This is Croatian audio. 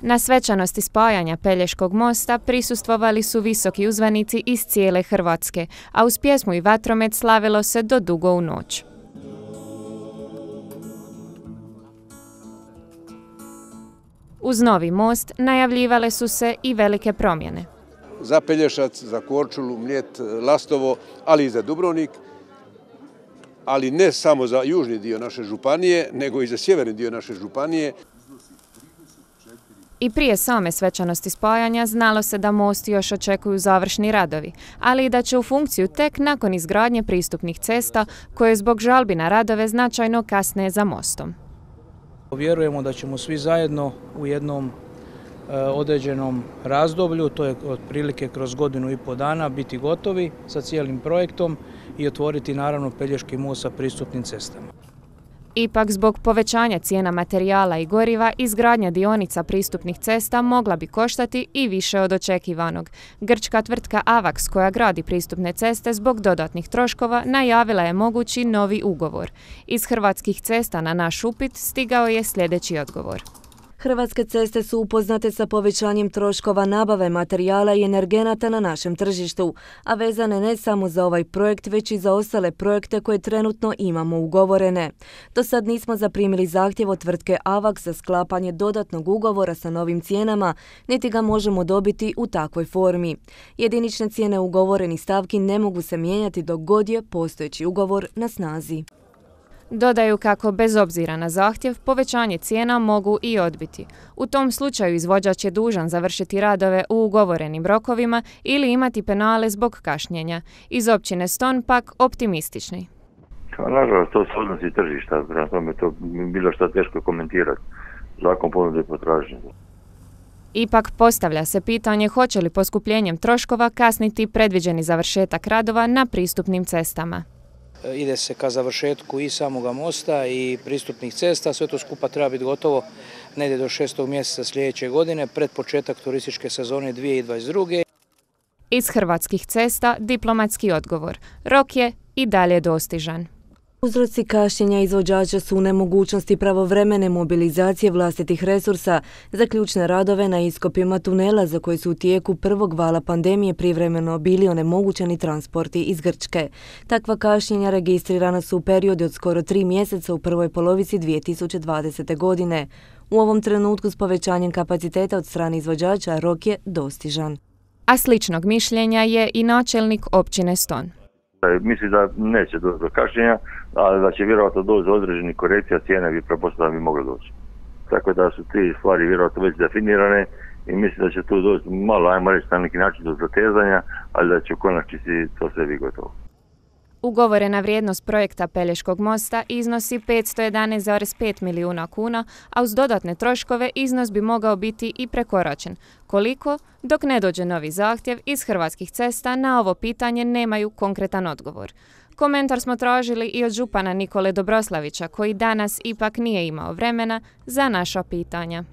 Na svečanosti spajanja Pelješkog mosta prisustvovali su visoki uzvanici iz cijele Hrvatske, a uz pjesmu i vatromet slavilo se do dugo u noć. Uz novi most najavljivale su se i velike promjene. Za Pelješac, za Korčulu, Mljet, Lastovo, ali i za Dubrovnik, ali ne samo za južni dio naše županije, nego i za sjeverni dio naše županije. I prije same svečanosti spajanja znalo se da most još očekuju završni radovi, ali i da će u funkciju tek nakon izgradnje pristupnih cesta koje zbog žalbi na radove značajno kasne za mostom. Vjerujemo da ćemo svi zajedno u jednom određenom razdoblju, to je otprilike kroz 1,5 dana, biti gotovi sa cijelim projektom i otvoriti naravno Pelješki most sa pristupnim cestama. Ipak zbog povećanja cijena materijala i goriva, izgradnja dionica pristupnih cesta mogla bi koštati i više od očekivanog. Grčka tvrtka Avax, koja gradi pristupne ceste zbog dodatnih troškova, najavila je mogući novi ugovor. Iz Hrvatskih cesta na naš upit stigao je sljedeći odgovor. Hrvatske ceste su upoznate sa povećanjem troškova nabave materijala i energenata na našem tržištu, a vezane ne samo za ovaj projekt, već i za ostale projekte koje trenutno imamo ugovorene. Do sad nismo zaprimili zahtjev od tvrtke Avax za sklapanje dodatnog ugovora sa novim cijenama, niti ga možemo dobiti u takvoj formi. Jedinične cijene ugovorenih stavki ne mogu se mijenjati dok god je postojeći ugovor na snazi. Dodaju kako bez obzira na zahtjev, povećanje cijena mogu i odbiti. U tom slučaju izvođač je dužan završiti radove u ugovorenim rokovima ili imati penale zbog kašnjenja. Iz općine Ston pak optimistični. Nažalost, to se odnosi tržišta, prema tome to bilo što teško komentirati. Zakon ponude i potražnje. Ipak postavlja se pitanje hoće li poskupljenjem troškova kasniti predviđeni završetak radova na pristupnim cestama. Ide se ka završetku i samoga mosta i pristupnih cesta, sve to skupa treba biti gotovo negdje do 6. mjeseca sljedeće godine, pred početak turističke sezone 2022. Iz Hrvatskih cesta diplomatski odgovor. Rok je i dalje dostižan. Uzroci kašnjenja izvođača su u nemogućnosti pravovremene mobilizacije vlastitih resursa za ključne radove na iskopima tunela za koji su u tijeku prvog vala pandemije privremeno bili onemogućeni transporti iz Grčke. Takva kašnjenja registrirana su u periodu od skoro 3 mjeseca u prvoj polovici 2020. godine. U ovom trenutku s povećanjem kapaciteta od strane izvođača rok je dostižan. A sličnog mišljenja je i načelnik općine Ston. Mislim da neće doći do kašnjenja, ali da će vjerojatno doći do određenih korekcija, cijene bi pretpostavljam bi mogle doći. Tako da su te stvari vjerojatno već definirane i mislim da će tu doći malo, ajmo reći na neki način do zatezanja, ali da će u konačnici to sve biti gotovo. Ugovorena vrijednost projekta Pelješkog mosta iznosi 511,5 milijuna kuna, a uz dodatne troškove iznos bi mogao biti i prekoračen. Koliko? Dok ne dođe novi zahtjev, iz Hrvatskih cesta na ovo pitanje nemaju konkretan odgovor. Komentar smo tražili i od župana Nikole Dobroslavića, koji danas ipak nije imao vremena za naša pitanja.